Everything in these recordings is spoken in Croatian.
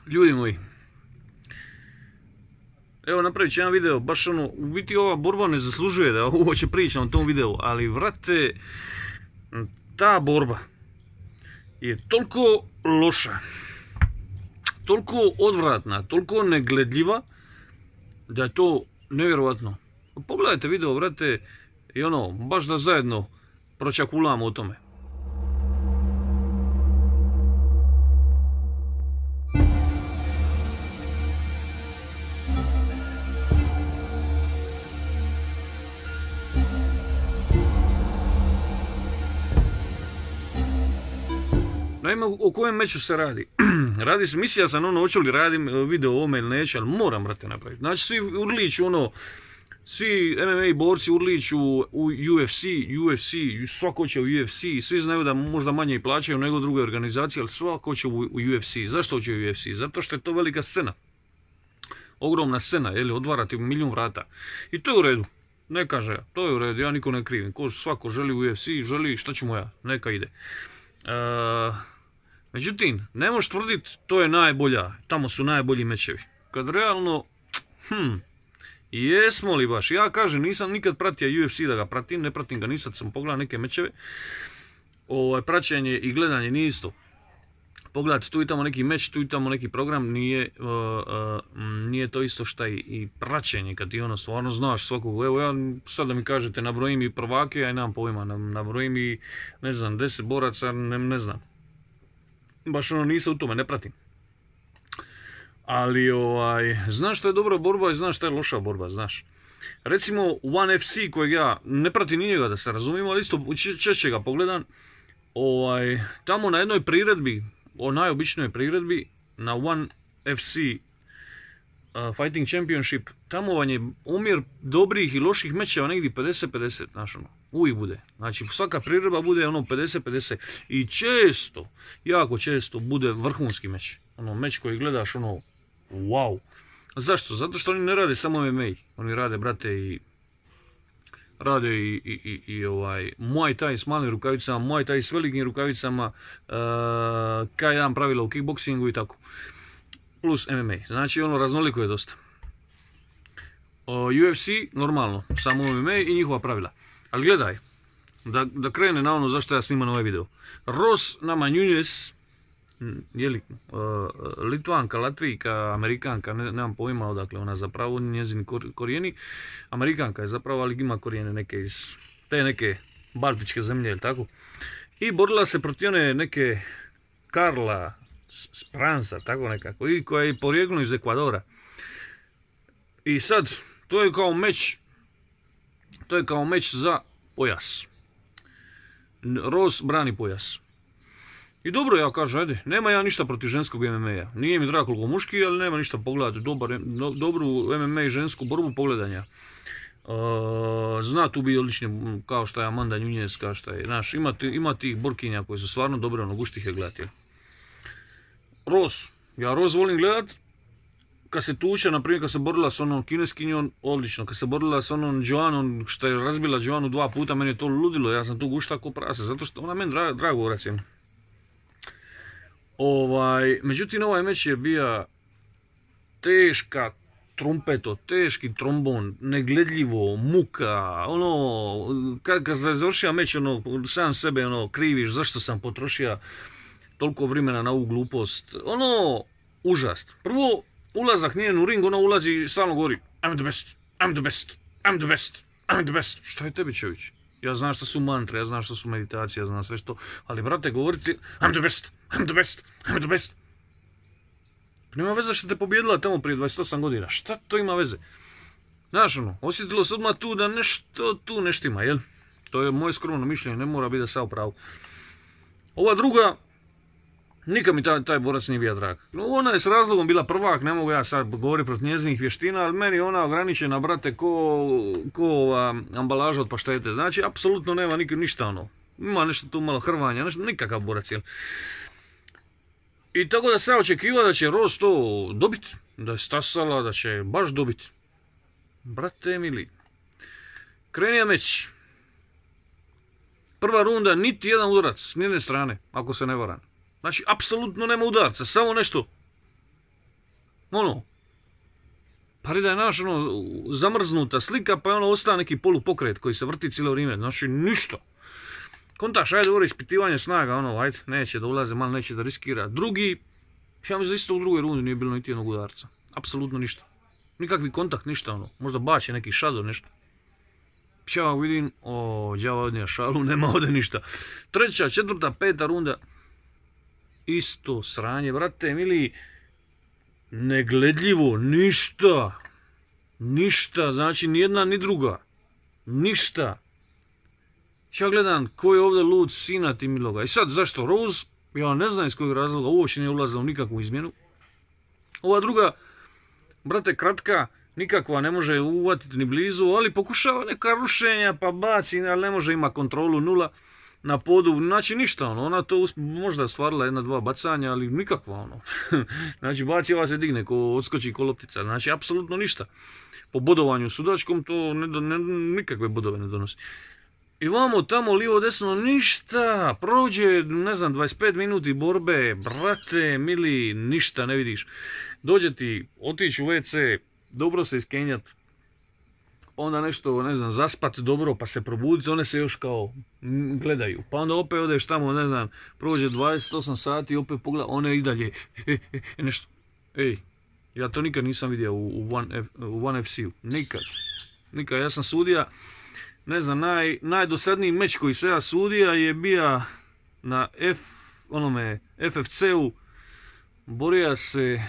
Ljudi moji, evo napravit ću jedan video, baš ono, u biti ova borba ne zaslužuje da uopće pričam o tom videu, ali vrate, ta borba je toliko loša, toliko odvratna, toliko negledljiva, da je to nevjerovatno. Pogledajte video, vrate, i ono, baš da zajedno pročakulamo o tome. Naime, o kojem meču se radi? Radi se, mislio sam ono, hoću li radim video o ovome ili neću, ali moram, brate, napraviti. Znači, svi urliču, ono, svi MMA borci urliču u UFC, svako će u UFC, svi znaju da možda manje i plaćaju nego druge organizacije, ali svako će u UFC. Zašto će u UFC? Zato što je to velika scena. Ogromna scena, odvarati milijun vrata. I to je u redu. Ne kaže ja, to je u redu, ja niko ne krivim. Svako želi u UFC, želi, šta ćemo ja, neka ide. Međutim, ne možeš tvrditi to je najbolja, tamo su najbolji mečevi. Kad realno, jesmo li baš? Ja kažem, nisam nikad pratio UFC da ga pratim, ne pratim ga, nisam sam pogledao neke mečeve. Praćenje i gledanje nije isto. Pogledajte, tu i tamo neki meč, tu i tamo neki program, nije to isto šta i praćenje, kad ti ono stvarno znaš svakog. Evo ja sad da mi kažete, nabrojim i prvake, ja nemam pojma, nabrojim i, ne znam, 10 boraca, ne znam. Baš ono nisam u tome, ne pratim. Ali znaš šta je dobra borba i znaš šta je loša borba, znaš. Recimo One FC kojeg ja ne pratim ni njega da se razumijemo, ali isto češće ga pogledam. Tamo na jednoj priredbi, o najobičnoj priredbi, na One FC Fighting Championship, tamo vam je omjer dobrih i loših mečeva negdje 50-50, znaš ono, uvijek bude. Znači svaka priredba bude ono 50-50 i često, jako često bude vrhunski meč. Ono meč koji gledaš ono, wow. Zašto? Zato što oni ne rade samo MMA, oni rade, brate, i rade i Muay Thai s malim rukavicama, Muay Thai s velikim rukavicama, K1 pravila u kickboksingu i tako. Plus MMA, znači ono raznoliko je dosta. UFC, normalno, samo MMA i njihova pravila. Ali gledaj, da krene na ono zašto ja snimam ovaj video. Ros Namajunas, Litvanka, Latvijka, Amerikanka, nemam pojma odakle ona zapravo, njezini korijeni. Amerikanka je zapravo, ali ima korijene neke iz te neke baltičke zemlje, ili tako. I borila se protiv one neke Karla Spransa, tako nekako, i koja je porijeklo iz Ekvadora. I sad, to je kao meč za pojas. Ros brani pojas. I dobro, ja kažem, ajde, nema ja ništa protiv ženskog MMA-a. Nije mi drago koliko muški, ali nema ništa pogledati. Dobru MMA i žensku borbu pogledanja. Zna tu biti odlični, kao što je Amanda Nunes, kao što je, znaš, ima tih borkinja koji su stvarno dobre, ono, guštih je gledati. Ros, ja Ros volim gledat, kad se tuče, naprimjer kad se borila s onom kineskinjom, odlično, kad se borila s onom Joanom, što je razbila Joanu 2 puta, meni je to ludilo, ja sam tu gušta ko prase, zato što ona meni drago racim. Međutim, ovaj meč je bija teška trumpeto, teški trombon, negledljivo, muka, ono, kad se završio meč, ono, sam sebe, ono, kriviš, zašto sam potrošio toliko vremena na ovu glupost, ono, užast. Prvo, ulazak nije u ring, ono ulazi i stalno govori, I'm the best, I'm the best, I'm the best, I'm the best. Šta je tebi, čovječ? Ja znam što su mantre, ja znam što su meditacije, ja znam sve što, ali brate, govoriti I'm the best, I'm the best, I'm the best. Nema veze što te pobjedila tamo prije 28 godina, šta to ima veze? Znaš ono, osjetilo se odmah tu da nešto tu neštima, jel? To je moje skromno mišljenje, ne mora biti da sam u pravu. Ova druga, nikad mi taj borac nije bio drag. Ona je s razlogom bila prvak, ne mogu ja sad govoriti protiv njezinih vještina, ali meni ona ograničena, brate, ko ambalaža od paštete. Znači, apsolutno nema ništa ono. Ima nešto tu malo hrvanja, nikakav borac, jel? I tako da se očekiva da će Ros to dobiti, da je stasala, da će baš dobiti. Brate mili, krenija meč. Prva runda, niti jedan udarac s nijedne strane, ako se ne varam. Znači, apsolutno nema udarca, samo nešto Ono, pa da je naš zamrznuta slika, pa je ostane neki polupokret koji se vrti cijelo vrijeme. Znači ništa. Kontaš, ajde dobro ispitivanje snaga, ajde, neće da ulaze, malo neće da riskira. Drugi, ja mislim da isto u drugoj rundi nije bilo niti jednog udarca. Apsolutno ništa. Nikakvi kontakt, ništa možda bače neki shadow, nešto. Ja vidim, đava odnija šalu, nema ovdje ništa. Treća, četvrta, peta runda, isto sranje, brate mili, negledljivo, ništa. Ništa, znači ni jedna ni druga. Ništa. Ja gledam ko je ovdje lud sina ti miloga. I sad zašto Rose? Ja ne znam iz kojeg razloga, uopće nije ulazila u nikakvu izmjenu. Ova druga, brate, kratka, nikakva, ne može uvatiti ni blizu, ali pokušava neka rušenja, pa baci, ali ne može, ima kontrolu nula na podu, znači ništa, ona to možda stvarila jedna, dva bacanja, ali nikakva, znači baci, ova se digne, ko odskoči ko loptica, znači apsolutno ništa. Po bodovanju sudačkom to nikakve bodove ne donosi. I vamo tamo lijevo desno ništa, prođe, ne znam, 25 minuti borbe, brate, mili, ništa ne vidiš. Dođe ti, otići u WC, dobro se iskenjat, onda nešto, ne znam, zaspat dobro pa se probuditi, one se još kao gledaju. Pa onda opet odeš tamo, ne znam, prođe 28 sati, opet pogleda, one i dalje, nešto. Ej, ja to nikad nisam vidio u One FC-u, nikad. Ja sam sudija, ne znam, najdosadniji meč koji se ja sudija je bio na FFC-u, borija se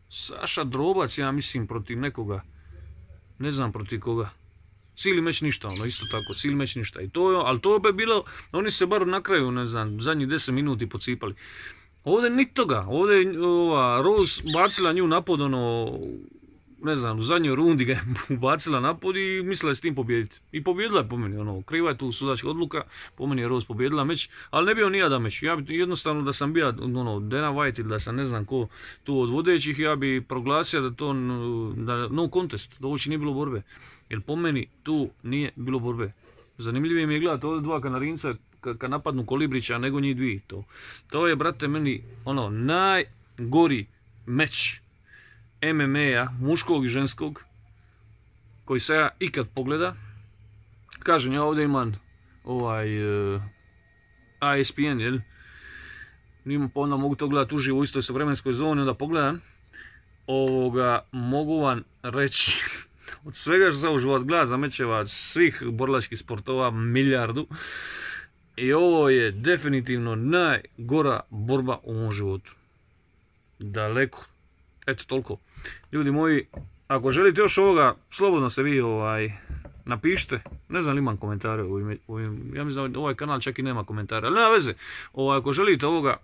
Saša Drobac, ja mislim, protiv nekoga, ne znam protiv koga. Cijeli meč ništa, isto tako, cijeli meč ništa. Ali to opet bilo, oni se bar na kraju, ne znam, zadnjih 10 minuti pocipali. Ovdje ni toga, ovdje je Rose bacila nju napod, ne znam, u zadnjoj rundi ga je ubacila napod i mislila je s tim pobijediti. I pobijedila je po meni, kriva je tu sudačka odluka, po meni je Rose pobijedila meč, ali ne bio nijadan meč. Ja bi jednostavno da sam bio Dana White ili da sam ne znam ko tu od vodećih, ja bi proglasio da to no contest, da uopće nije bilo borbe. Jer po meni tu nije bilo borbe. Zanimljivije mi je gledati ovdje dva Kanarinca kad napadnu Kolibrića nego njih dvije. To je, brate, meni najgori meč MMA-a, muškog i ženskog, koji se ja ikad pogleda. Kažem, ja ovdje imam ESPN, jel? Pa onda mogu to gledati uživo u istoj vremenskoj zoni, onda pogledam. Mogu vam reći, od svega što sam u život gleda za mečeva svih borilačkih sportova, milijardu, i ovo je definitivno najgora borba u mom životu. Daleko. Eto, toliko. Ljudi moji, ako želite još ovoga, slobodno se vi napišite. Ne znam li imam komentare ja mislim da ovaj kanal čak i nema komentara, ali nema veze. Ako želite ovoga,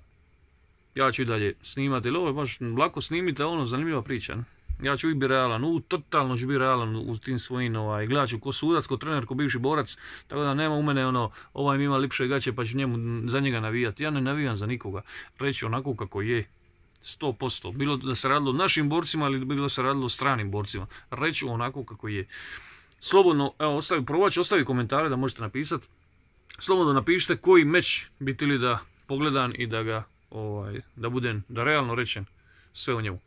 ja ću i dalje snimati, ili ovo je baš lako snimite, zanimljiva priča. Ja ću i biti realan, totalno ću biti realan u tim svojim, gledat ću ko sudac, ko trener, ko bivši borac, tako da nema u mene ovaj mi ima lipše gaće pa ću njemu za njega navijati. Ja ne navijam za nikoga, reći onako kako je. 100%. Bilo da se radilo o našim borcima ili bilo da se radilo o stranim borcima. Reću onako kako je. Slobodno, evo, probat ću ostavi komentare da možete napisati. Slobodno napišite koji meč bi htjeli da pogledam i da ga, da budem, da realno rečem sve o njemu.